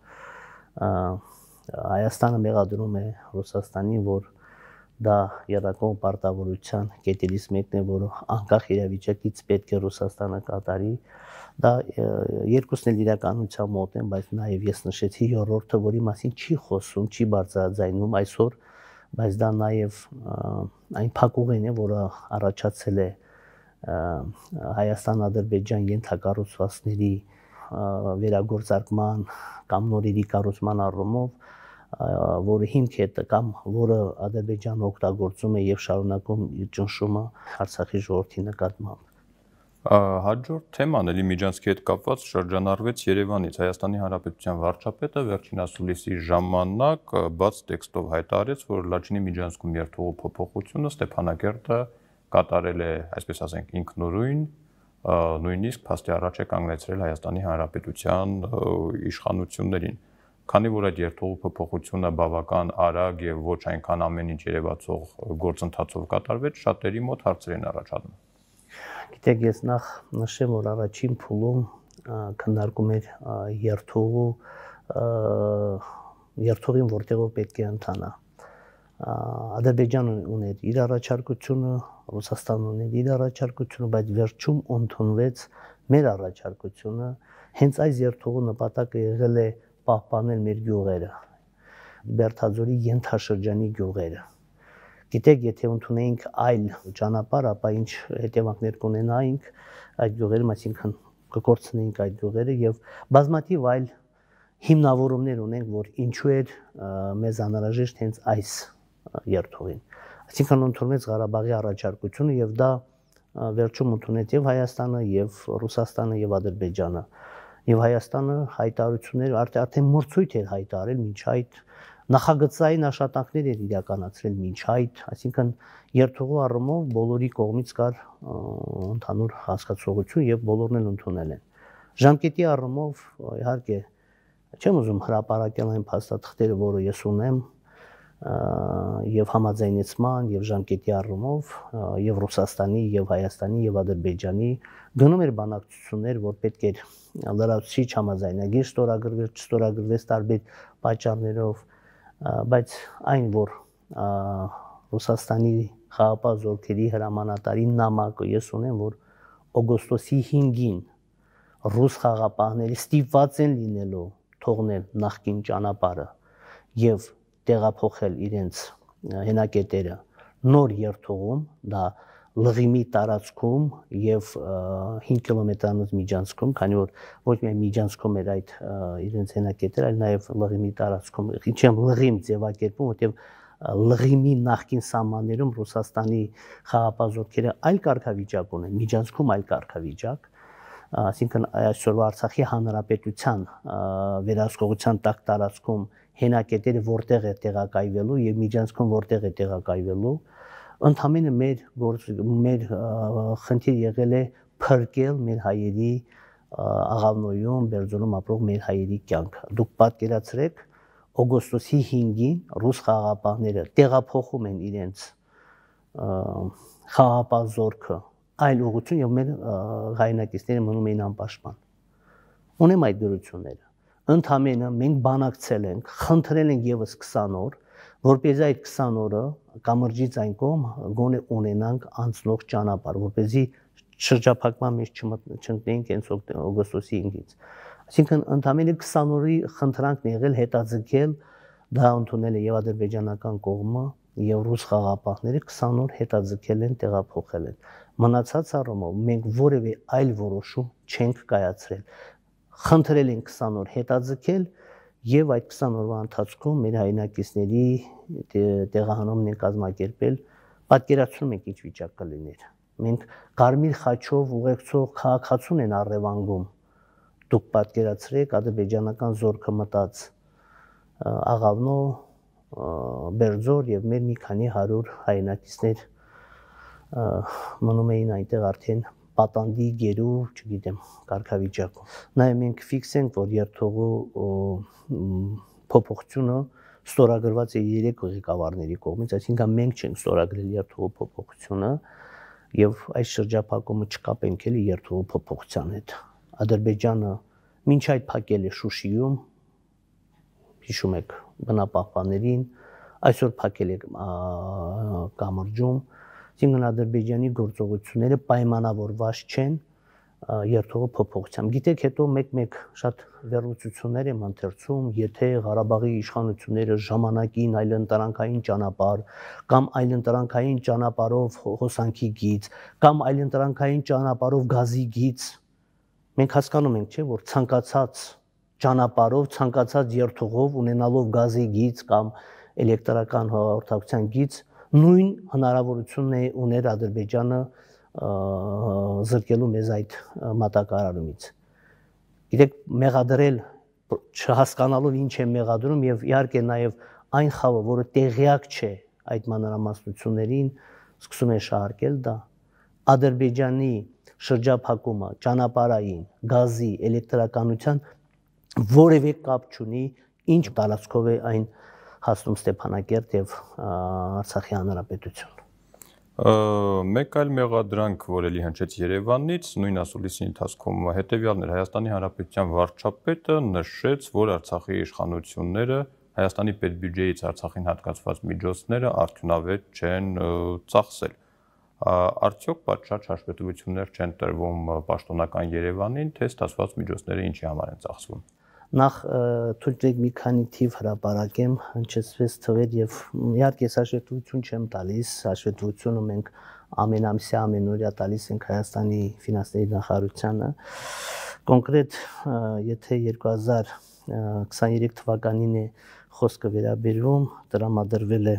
Հայաստանը մեղադրում է Ռուսաստանին, որ դա եռակողմ պարտավորության կետերից մեկն է, որը անկախ իրավիճակից պետք է Ռուսաստանը կատարի, դա երկուսն էլ իրականության մոտ են, բայց նաև ես նշեցի երրորդը, որի մասին չի խոսում, չի բարձրաձայնում այսօր, բայց դա նաև այն փակուղին է, որը առաջացել է Հայաստան-Ադրբեջան ենթակառուցվածքների վերագործարկման կամ նորերի կառուցման առումով, որը հիմք է կամ որը Ադրբեջանը օգտագործում է եւ շարունակում իր ճնշումը Արցախի ժողովրդի նկատմամբ։
Հաջորդ թեման էլի միջանցքի հետ կապված շրջանառվեց Երևանից։ Հայաստանի Հանրապետության վարչապետը վերջին ասուլիսի ժամանակ բաց տեքստով հայտարարեց, որ Լաչինի միջանցքում երթուղու փոփոխությունը Ստեփանակերտը կատարել է, այսպես ասենք, ինքնուրույն, նույնիսկ փաստի առաջ է կանգնեցրել Հայաստանի Հանրապետության իշխանություններին։ Քանի որ այդ երթուղու փոփոխությունը բավական արագ եւ ոչ այնքան ամեն ինչ երևացող գործընթացով կատարվեց, շատերի մոտ հարցեր են առաջանում։
Գիտեք, ես նախ նշեմ, որ առաջին փուլում քննարկում էր երթուղու երթուղին, որտեղով պետք է ընթանա։ Ադրբեջանը ուներ իր առաջարկությունը, Ռուսաստանն ուներ իր առաջարկությունը, բայց վերջում ընդունվեց մեր առաջարկությունը։ Հենց այս երթուղու նպատակը եղել է պահպանել մեր գյուղերը, Բերդաձորի ենթաշրջանի գյուղերը։ Գիտեք, եթե ընդունեինք այլ ճանապարհ, ապա ինչ հետևանքներ կունենայինք այդ գյուղերում, այսինքն կկորցնեինք այդ գյուղերը եւ բազմաթիվ այլ հիմնավորումներ ունենք, որ ինչու էր մեզ անհրաժեշտ հենց այս երթուղին։ Այսինքն ընդունվեց Ղարաբաղի առաջարկությունը եւ դա վերջում ընդունեց եւ Հայաստանը, եւ Ռուսաստանը, եւ Ադրբեջանը։ Եվ Հայաստանը հայտարարություններ արդեն մրցույթ էր հայտարարել մինչ այդ նախագծային աշխատանքներ էր իրականացրել մինչ այդ, այսինքն երթուղու առումով բոլորի կողմից կար ընդհանուր հասկացողություն եւ բոլորն էլ ընդունել են։ Ժամկետի առումով իհարկե չեմ ուզում հրապարակել այն փաստաթղթերը, որը ես ունեմ, եւ համաձայնեցման եւ ժամկետի առումով եւ Ռուսաստանի եւ Հայաստանի եւ Ադրբեջանի գնում էր բանակցություններ, որ պետք էր լրացուցիչ համաձայնագիր ստորագրվեր, չստորագրվեց տարբեր պատճառներով, բայց այն, որ Ռուսաստանի խաղաղապահ զորքերի հրամանատարի նամակը ես ունեմ, որ օգոստոսի հինգին ռուս խաղաղապահները ստիպված են լինելու թողնել նախկին ճանապարհը եւ տեղափոխել իրենց հենակետերը նոր երթուղում, դա Լղիմի տարածքում եւ հինգ կիլոմետրանոց միջանցքում, քանի որ ոչ միայն միջանցքում էր այդ իրենց հենակետերը, այլ նաեւ Լղիմի տարածքում, ինչեմ Լղիմ ձևակերպում, որտեղ Լղիմի նախկին սահմաններում Ռուսաստանի խաղաղապահ զորքերը այլ կարգավիճակ ունեն, միջանցքում այլ կարգավիճակ, այսինքն այսօրվա Արցախի հանրապետության վերահսկողության տակ տարածքում հենակետերը որտեղ է տեղակայվելու եւ միջանցքում որտեղ է տեղակայվելու, ընդհանրապես մեր մեր խնդիր եղել է փրկել մեր հայերի Աղավնոյում, Բերձորում ապրող մեր հայերի կյանքը։ Դուք պատկերացրեք, օգոստոսի հինգին ռուս խաղաղապահները տեղափոխում են իրենց խաղաղապահ զորքը այլ ուղղություն եւ մեր հայրենակիցները մնում էին անպաշտպան։ Ունեմ այդ դրությունները։ Ընդհանրապես մենք բանակցել ենք, խնդրել ենք եւս քսան օր, որպեսզի այդ քսան օրը կամրջից այն կողմ գոնե ունենանք անցնող ճանապարհ, որպեսզի շրջափակման մեջ չընկնեինք հենց օգոստոսի հինգից։ Այսինքն ընդհանրապես քսան օրի խնդրանքն եղել հետաձգել, դա ընդունել է եւ ադրբեջանական կողմը եւ ռուս խաղաղապահները քսան օր հետաձգել են, տեղափոխել են։ Մնացած առումով մենք որևէ այլ որոշում չենք կայացրել։ Խնդրել են քսան օր հետաձգել եւ այդ քսան օրվա ընթացքում մեր հայրենակիցների տեղահանումն են կազմակերպել պատկերացնում եք ինչ վիճակ կլիներ։ Մենք կարմիր խաչով ուղեկցող քաղաքացուն են առևանգում։ Դուք պատկերացրեք ադրբեջանական զորքը մտած Աղավնո, Բերձոր եւ մեր մի քանի հարյուր հայրենակիցներ մնում էին այնտեղ արդեն պատանդի գերու, չգիտեմ, կարգավիճակում։ Նաեւ մենք ֆիքսենք, որ երթուղու փոփոխությունը ստորագրված է երեք ղեկավարների կողմից, այսինքն մենք չենք ստորագրել երթուղու փոփոխությունը եւ այս շրջափակումը չկապենք էլի երթուղու փոփոխության հետ։ Ադրբեջանը մինչ այդ փակել է Շուշիում, հիշում եք բնապահպաններին, այսօր փակել է կամրջում, այսինքն Ադրբեջանի գործողությունները պայմանավորված չեն երթուղու փոփոխությամբ։ Գիտեք, հետո մեկ-մեկ շատ վերլուծություններ եմ ընթերցում, եթե Ղարաբաղի իշխանությունները ժամանակին այլընտրանքային ճանապարհ կամ այլընտրանքային ճանապարհով հոսանքի գիծ կամ այլընտրանքային ճանապարհով գազի գիծ, մենք հասկանում ենք, չէ, որ ցանկացած ճանապարհով, ցանկացած երթուղով ունենալով գազի գիծ կամ էլեկտրական հաղորդակցության գիծ, նույն հնարավորությունն է ուներ Ադրբեջանը զրկելու մեզ այդ մատակարարումից։ Գիտեք, մեղադրել չհասկանալով ինչ է մեղադրում եւ իհարկե նաեւ այն խավը, որը տեղյակ չէ այդ մանրամասնություններին, սկսում է շահարկել դա Ադրբեջանի շրջափակումը ճանապարհային, գազի, էլեկտրականության որևէ կապ չունի, ինչ տարածքով է այն հասնում Ստեփանակերտ եւ Արցախի հանրապետություն։
Մեկ այլ մեղադրանք, որ էլի հնչեց Երևանից, նույն ասուլիսի ընթացքում հետեւյալն էր. Հայաստանի Հանրապետության վարչապետը նշեց, որ Արցախի իշխանությունները Հայաստանի պետբյուջեից Արցախին հատկացված միջոցները արդյունավետ չեն ծախսել։ Արդյոք պատշաճ հաշվետվություններ չեն տրվում պաշտոնական Երևանին, թե ստացված միջոցները ինչի համար են ծախսվում։
Նախ թույլ տվեք մի քանի թիվ հրապարակեմ, հնչեցվեց թվեր եւ իհարկե հաշվետվություն չեմ տալիս, հաշվետվությունը մենք ամենամսյա ամենօրյա տալիս ենք Հայաստանի ֆինանսների նախարարությանը։ Կոնկրետ, եթե երկու հազար քսաներեք թվականին է խոսքը վերաբերվում, տրամադրվել է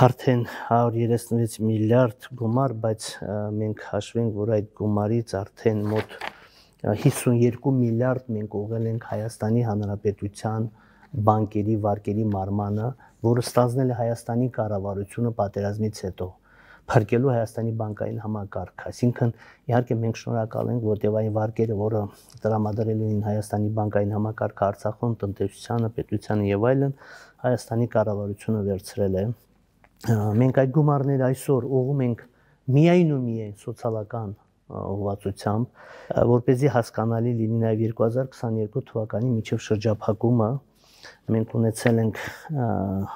արդեն հարյուր երեսունվեց միլիարդ գումար, բայց մենք հաշվենք, որ այդ գումարից արդեն մոտ հիսունյոթ միլիարդ մենք ուղղել ենք Հայաստանի Հանրապետության բանկերի վարկերի մարմանը, որը ստանձնել է Հայաստանի կառավարությունը պատերազմից հետո, փրկելու Հայաստանի բանկային համակարգը։ Այսինքն, իհարկե մենք շնորհակալ ենք, որտեղ այն վարկերը, որը տրամադրելու են Հայաստանի բանկային համակարգը Արցախում, տնտեսությանը, պետությանը եւ այլն, Հայաստանի կառավարությունը վերցրել է։ Մենք այդ գումարները այսօր ուղղում ենք միայն ու միայն սոցիալական ուղղվածությամբ, որպեսզի հասկանալի լինի նաև երկու հազար քսաներկու թվականի միջև շրջափակումը մենք ունեցել ենք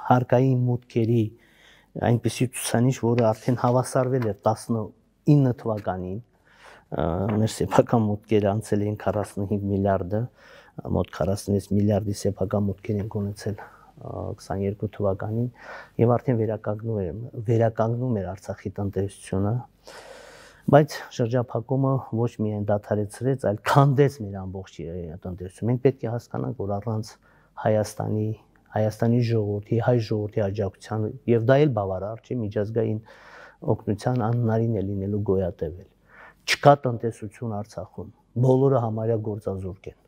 հարկային մուտքերի այնպիսի ցուցանիշ, որը արդեն հավասարվել էր տասնինը թվականին, մեր սեփական մուտքերը անցել էին քառասունհինգ միլիարդը, մոտ քառասունվեց միլիարդի սեփական մուտքեր ենք ունեցել քսաներկու թվականին եւ արդեն վերականգնում էր վերականգնում էր Արցախի տնտեսությունը, բայց շրջափակումը ոչ միայն դադարեցրեց, այլ քանդեց մեր ամբողջ տնտեսությունը։ Մենք պետք է հասկանանք, որ առանց Հայաստանի Հայաստանի ժողովրդի, հայ ժողովրդի աջակցության եւ դա էլ բավարար չէ, միջազգային օգնության անհնարին է լինելու գոյատևել։ Չկա տնտեսություն Արցախում, բոլորը համարյա գործազուրկ են։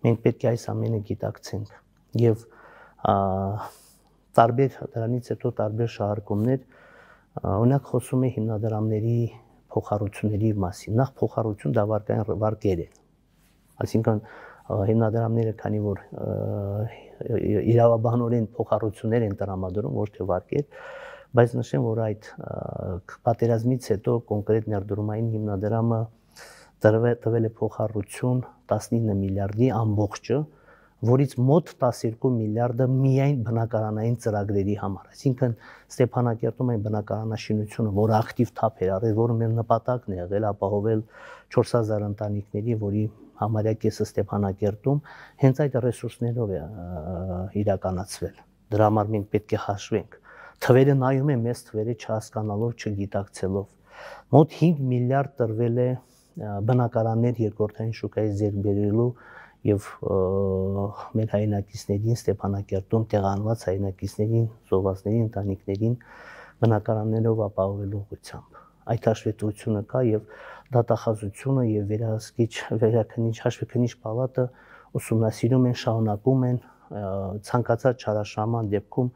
Մենք պետք է այս ամենը գիտակցենք եւ տարբեր դրանից հետո տարբեր շահարկումներ, օրինակ խոսում է հիմնադրամների փոխառությունների մասին։ Նախ փոխառություն դա վարկային վարկեր են, այսինքն հիմնադրամները, քանի որ իրավաբանորեն փոխառություններ են տրամադրում, ոչ թե վարկեր, բայց նշեմ, որ այդ պատերազմից հետո կոնկրետ ներդրումային հիմնադրամը տվել է փոխառություն տասնինը միլիարդի ամբողջը, որից մոտ տասներկու միլիարդը միայն բնակարանային ծրագրերի համար։ Այսինքն Ստեփանակերտում այն բնակարանաշինությունը, որը ակտիվ թափ էր առել, որը մեր նպատակն է եղել ապահովել չորս հազար ընտանիքների, որի համարյա կեսը Ստեփանակերտում, հենց այդ ռեսուրսներով է իրականացվել։ Դրա համար մենք պետք է հաշվենք։ Թվերը նայում են մեծ թվերը չհասկանալով, չգիտակցելով։ Մոտ հինգ միլիարդ տրվել է բնակարաններ երկրորդային շուկայից ձեռք բերելու եւ մեր հայրենակիցներին Ստեփանակերտում տեղանված հայրենակիցներին, զոհվածների ընտանիքներին բնակարաններով ապահովելու ուղղությամբ։ Այդ հաշվետվությունը կա եւ դատախազությունը եւ վերահսկիչ վերաքննիչ հաշվեկնիչ պալատը ուսումնասիրում են, շարունակում են ցանկացած չարաշահման դեպքում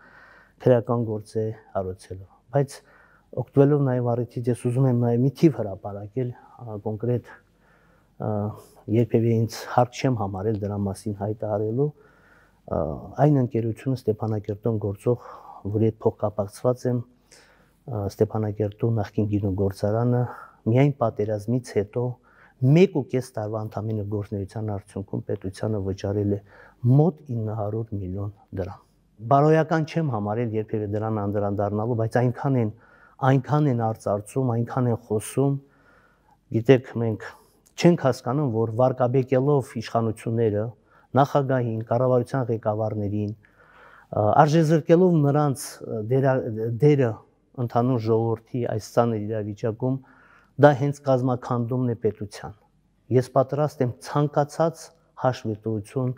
քրեական գործ է հարուցելու։ Բայց օգտվելով նաեւ առիթից ես ուզում եմ նաեւ մի թիվ հրապարակել կոնկրետ երբևէ ինձ հարկ չեմ համարել դրա մասին հայտարարելու այն ընկերությունը Ստեփանակերտում գործող, որի հետ փոխկապակցված եմ, Ստեփանակերտում նախկին գինոգործարանը միայն պատերազմից հետո մեկ ու կես տարվա ընդամենը գործունեության արդյունքում պետությանը վճարել է մոտ ինը հարյուր միլիոն դրամ։ Բարոյական չեմ համարել երբևէ դրան անդրադառնալու, բայց այնքան են այնքան են արծարծում, այնքան են խոսում, գիտեք, մենք չենք հասկանում, որ վարկաբեկելով իշխանությունները, նախագահին, կառավարության ղեկավարներին, արժեզրկելով նրանց դերը ընդհանուր ժողովրդի այս ծանր իրավիճակում, դա հենց կազմաքանդումն է պետության։ Ես պատրաստ եմ ցանկացած հաշվետվություն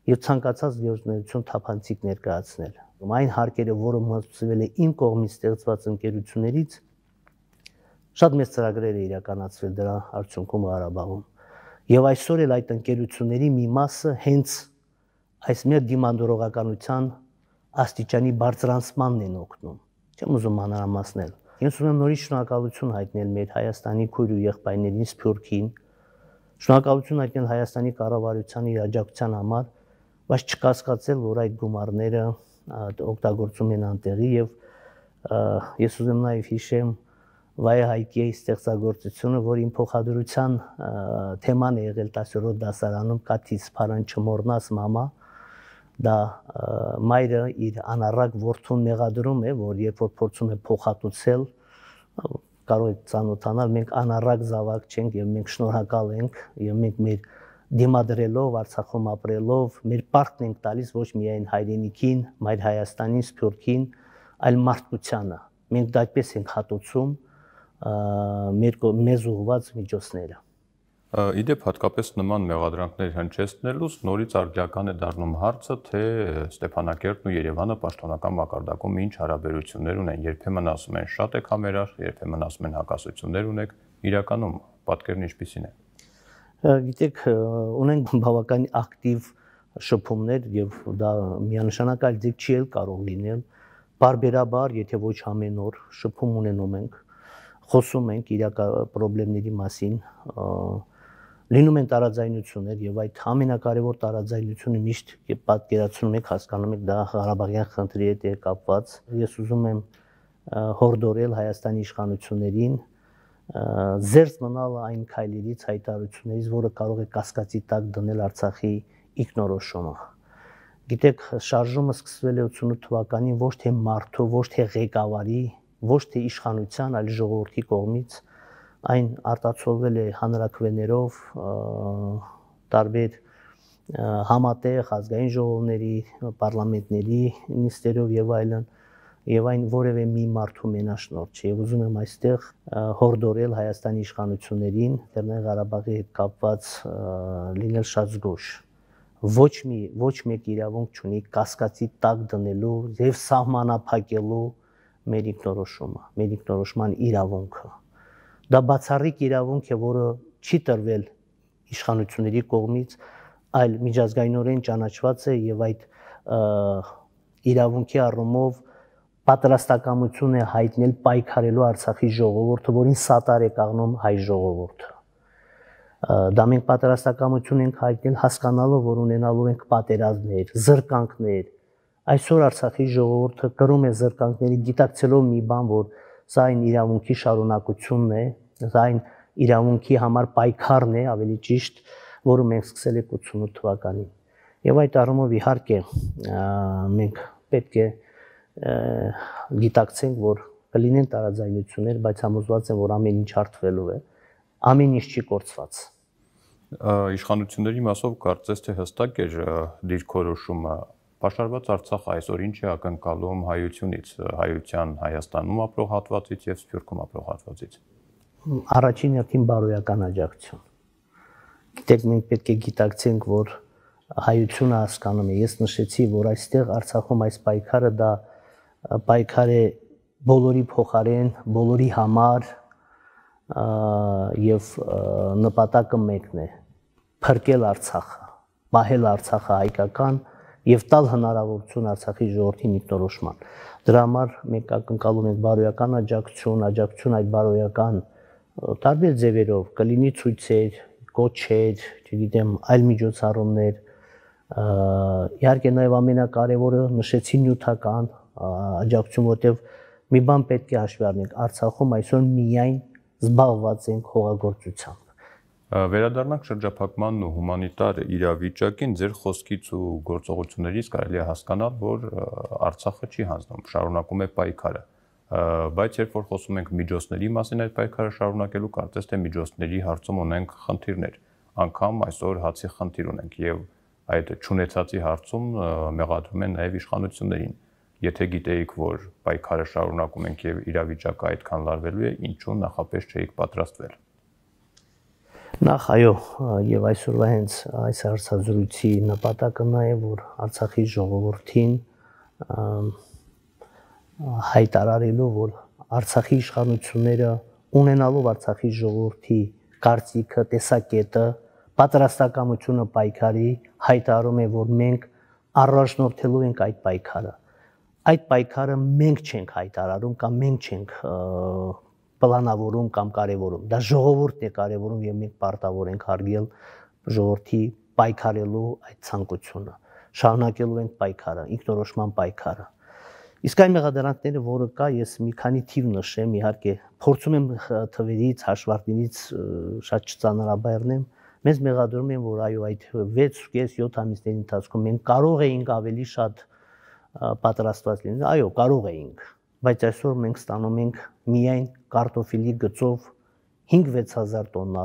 եւ ցանկացած գործունեություն թափանցիկ ներկայացնել։ Այն հարկերը, որը մատուցվել է իմ կողմից ստեղծված ընկերություններից, շատ մեծ ծրագրեր է իրականացվել դրա արդյունքում Ղարաբաղում։ Եվ այսօր էլ այդ ընկերությունների մի մասը հենց այս մեր դիմանդուրողականության աստիճանի բարձրանցմանն են օգնում։ Չեմ ուզում մանրամասնել։ Ես ուզում եմ նորից շնորհակալություն հայտնել մեր Հայաստանի քույր ու եղբայրներին Սփյուռքին, շնորհակալություն հայտնել Հայաստանի կառավարության իր աջակցության համար, բայց չկասկածել, որ այդ գումարները օգտագործում են անտեղի եւ ես ուզում նաեւ հիշեմ Վայե Հայկիի ստեղծագործությունը, որ իմ փոխադրության թեման է եղել տասներորդ դասարանում Կաթից փարան չմոռնաս մամա, դա մայրը իր անառակ որդուն մեղադրում է, որ երբ որ փորձում է փոխհատուցել, կարող եք ծանոթանալ, մենք անառակ զավակ չենք եւ մենք շնորհակալ ենք եւ մենք մեր դիմադրելով, Արցախում ապրելով, մեր պարտքն ենք տալիս ոչ միայն հայրենիքին, մայր Հայաստանին, Սփյուռքին, այլ մարդկությանը։ Մենք դա այդպես ենք հատուցում մեր մեզ ուղղված միջոցները։
Իդեպ հատկապես նման մեղադրանքներ հնչեցնելուց նորից արդյական է դառնում հարցը, թե Ստեփանակերտն ու Երևանը պաշտոնական մակարդակում ինչ հարաբերություններ ունեն։ Երբեմն ասում են շատ եք համերաշխ, երբեմն ասում են հակասություններ ունեք, իրականում պատկերն ինչպիսին է։
Գիտեք, ունենք բավականին ակտիվ շփումներ եւ դա միանշանակ այլ ձև չի էլ կարող լինել։ Բարբերաբար, եթե ոչ ամեն օր շփում ունենում ենք, խոսում ենք իրական խնդիրների մասին, լինում են տարաձայնություններ եւ այդ ամենակարևոր տարաձայնությունը միշտ երբ պատկերացնում եք, հասկանում եք դա Ղարաբաղյան խնդրի հետ է կապված։ Ես ուզում եմ հորդորել Հայաստանի իշխանություններին զերծ մնալ այն քայլերից, հայտարարություններից, որը կարող է կասկածի տակ դնել Արցախի ինքնորոշումը։ Գիտեք, շարժումը սկսվել է ութսունութ թվականին ոչ թե մարդու, ոչ թե ղեկավարի, ոչ թե իշխանության, այլ ժողովրդի կողմից, այն արտացոլվել է հանրաքվեներով, տարբեր համատեղ ազգային ժողովների, պարլամենտների նիստերով եւ այլն, եւ այն որևէ մի մարդու մենաշնորհ չէ։ Եվ ուզում եմ այստեղ հորդորել Հայաստանի իշխանություններին, Լեռնային Ղարաբաղի հետ կապված լինել շատ զգոշ։ Ոչ մի ոչ մեկ իրավունք չունի կասկածի տակ դնելու եւ սահմանափակելու մեր ինքնորոշումը, մեր ինքնորոշման իրավունքը։ Դա բացառիկ իրավունք է, որը չի տրվել իշխանությունների կողմից, այլ միջազգայինորեն ճանաչված է եւ այդ իրավունքի առումով պատրաստակամություն է հայտնել պայքարելու Արցախի ժողովուրդը, որին սատար է կանգնում հայ ժողովուրդը։ Դա մենք պատրաստակամություն ենք հայտնել հասկանալով, որ ունենալու ենք պատերազմներ, զրկանքներ։ Այսօր Արցախի ժողովուրդը կրում է զրկանքների, գիտակցելով մի բան, որ սա այն իրավունքի շարունակությունն է, սա այն իրավունքի համար պայքարն է, ավելի ճիշտ, որը մենք սկսել ենք ութսունութ թվականին։ Եվ այդ առումով իհարկե մենք պետք է գիտակցենք, որ կլինեն տարաձայնություններ, բայց համոզված եմ, որ ամեն ինչ հարթվելու է, ամեն ինչ չի կորցված։
Իշխանությունների մասով կարծես թե հստակ էր դիրքորոշումը, պաշարված Արցախը այսօր ինչ է ակնկալում հայությունից, հայության Հայաստանում ապրող հատվածից եւ Սփյուռքում ապրող հատվածից։
Առաջին հերթին բարոյական աջակցություն։ Գիտեք, մենք պետք է գիտակցենք, որ հայությունը հասկանում է։ Ես նշեցի, որ այստեղ Արցախում այս պայքարը դա պայքար է բոլորի փոխարեն, բոլորի համար եւ նպատակը մեկն է՝ փրկել Արցախը, պահել Արցախը հայկական եւ տալ հնարավորություն Արցախի ժողովրդին ինքնորոշման։ Դրա համար մենք ակնկալում ենք բարոյական աջակցություն, աջակցություն այդ բարոյական տարբեր ձևերով, կլինի ցույցեր, կոչեր, չգիտեմ, այլ միջոցառումներ, իհարկե նաև ամենակարևորը նշեցի նյութական աջակցություն, որտեղ մի բան պետք է հաշվի առնենք, Արցախում այսօր միայն զբաղված ենք հողագործությամբ։
Վերադառնանք շրջափակմանն ու հումանիտար իրավիճակին, ձեր խոսքից ու գործողություններից կարելի է հասկանալ, որ Արցախը չի հանձնում, շարունակում է պայքարը, բայց երբ որ խոսում ենք միջոցների մասին այդ պայքարը շարունակելու, կարծես թե միջոցների հարցում ունենք խնդիրներ, անգամ այսօր հացի խնդիր ունենք եւ այդ չունեցածի հարցում մեղադրում են նաեւ իշխանություններին։ Եթե գիտեիք, որ պայքարը շարունակում ենք եւ իրավիճակը այդքան լարվելու է, ինչու նախապես չէիք պատրաստվել։
Նախ այո, եւ այսօրվա հենց այս հարցազրույցի նպատակը նա է, որ Արցախի ժողովրդին հայտարարելու, որ Արցախի իշխանությունները ունենալով Արցախի ժողովրդի կարծիքը, տեսակետը, պատրաստակամությունը պայքարի, հայտարարում է, որ մենք առաջնորդելու ենք այդ պայքարը։ Այդ պայքարը մենք չենք հայտարարում կամ մենք չենք պլանավորում կամ կարևորում, դա ժողովուրդն է կարևորում եւ մենք պարտավոր ենք հարգել ժողովրդի պայքարելու այդ ցանկությունը, շարունակելու ենք պայքարը, ինքնորոշման պայքարը։ Իսկ այն մեղադրանքները, որը կա, ես մի քանի թիվ նշեմ, իհարկե փորձում եմ թվերից, հաշվարկներից շատ չծանրաբեռնեմ, մեզ մեղադրում են, որ այո, այդ վեց կես յոթ ամիսների ընթացքում մենք կարող էինք ավելի շատ պատրաստված լինել, այո, կարող էինք, բայց այսօր մենք ստանում ենք միայն կարտոֆիլի գծով հինգ-վեց հազար տոննա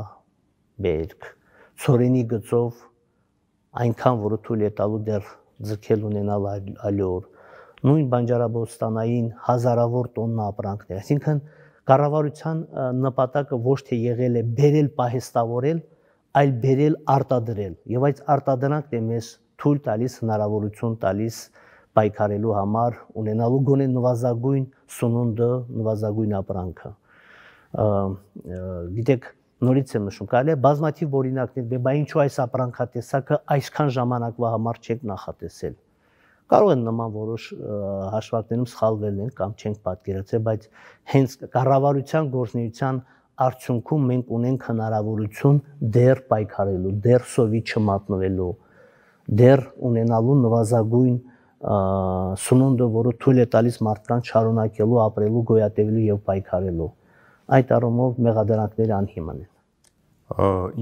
բերք, ցորենի գծով այնքան, որը թույլ է տալու դեռ ձգել ունենալ ալյոր, նույն բանջարաբոստանային հազարավոր տոննա ապրանքներ, այսինքն կառավարության նպատակը ոչ թե եղել է բերել պահեստավորել, այլ բերել արտադրել, եւ այդ արտադրանքն է մեզ թույլ տալիս հնարավորություն տալիս պայքարելու համար, ունենալու գոնե նվազագույն սնունդը, նվազագույն ապրանքը։ Գիտեք, նորից եմ նշում, կարելի է բազմաթիվ օրինակներ, բա ինչու այս ապրանքատեսակը այսքան ժամանակվա համար չեք նախատեսել։ Կարող են նման որոշ հաշվարկներում սխալվել են կամ չենք պատկերացրել, բայց հենց կառավարության գործունեության արդյունքում մենք ունենք հնարավորություն դեռ պայքարելու, դեռ սովի չմատնվելու, դեռ ունենալու նվազագույն սնունդը, որը թույլ է տալիս մարդկանց շարունակելու, ապրելու, գոյատևելու եւ պայքարելու։ Այդ առումով մեղադրանքները անհիմն են։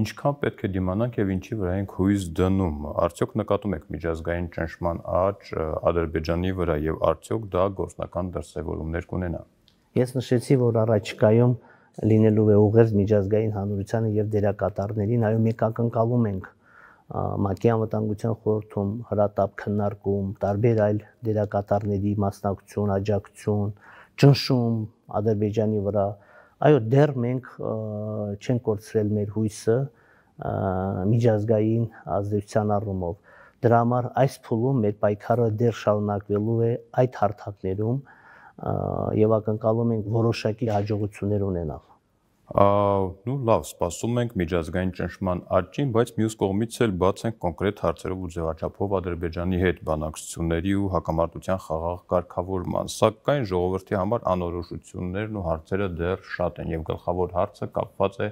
Ինչքան պետք է դիմանանք եւ ինչի վրա ենք հույս դնում։ Արդյոք նկատում եք միջազգային ճնշման աճ Ադրբեջանի վրա եւ արդյոք դա գործնական դրսեւորումներ կունենա։
Ես նշեցի, որ առաջիկայում լինելու է ուղերձ միջազգային հանրությանը եւ դերակատարներին, այո, մենք ակնկալում ենք ՄԱԿ-ի անվտանգության խորհրդում հրատապ քննարկում, տարբեր այլ դերակատարների մասնակցություն, աջակցություն, ճնշում Ադրբեջանի վրա։ Այո, դեռ մենք չենք կորցրել մեր հույսը միջազգային ազդեցության առումով։ Դրա համար այս փուլում մեր պայքարը դեռ շարունակվելու է այդ հարթակներում եւ ակնկալում ենք որոշակի հաջողություններ ունենալ։
Նու լավ, սպասում ենք միջազգային ճնշման աճին, բայց մյուս կողմից էլ բաց ենք կոնկրետ հարցերով ու ձևաչափով Ադրբեջանի հետ բանակցությունների ու հակամարտության խաղաղ կարգավորման, սակայն ժողովրդի համար անորոշություններն ու հարցերը դեռ շատ են եւ գլխավոր հարցը կապված է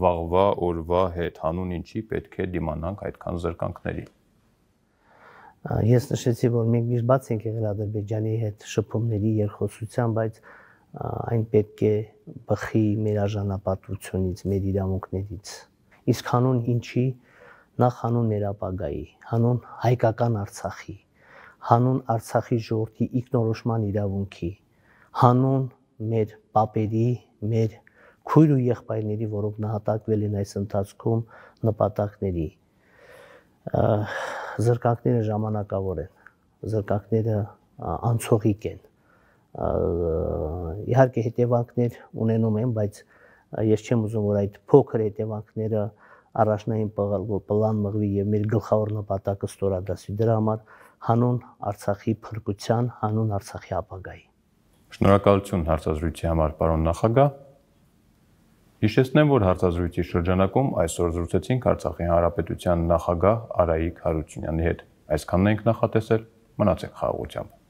վաղվա օրվա հետ, հանուն ինչի պետք է դիմանանք այդքան զրկանքների։
Ես նշեցի, որ մենք միշտ բաց ենք եղել Ադրբեջանի հետ շփումների, երկխոսության, բայց այն պետք է բխի մեր արժանապատվությունից, մեր իրավունքներից։ Իսկ հանուն ինչի, նախ հանուն մեր ապագայի, հանուն հայկական Արցախի, հանուն Արցախի ժողովրդի ինքնորոշման իրավունքի, հանուն մեր պապերի, մեր քույր ու եղբայրների, որոնք նահատակվել են այս ընթացքում, նպատակների։ Զրկանքները ժամանակավոր են, զրկանքները անցողիկ են։ Իհարկե հետևանքներ ունենում են, բայց ես չեմ ուզում, որ այդ փոքր հետևանքները առաջնային պլան մղվի եւ մեր գլխավոր նպատակը ստորագրվի դրա համար հանուն Արցախի փրկության, հանուն Արցախի ապագայի։
Շնորհակալություն հարցազրույցի համար, պարոն նախագահ։ Հիշեցնեմ, որ հարցազրույցի շրջանակում այսօր զրուցեցինք Արցախի Հանրապետության նախագահ Արայիկ Հարությունյանի հետ։ Այսքանն ենք նախատեսել, մնացեք խաղաղությամբ։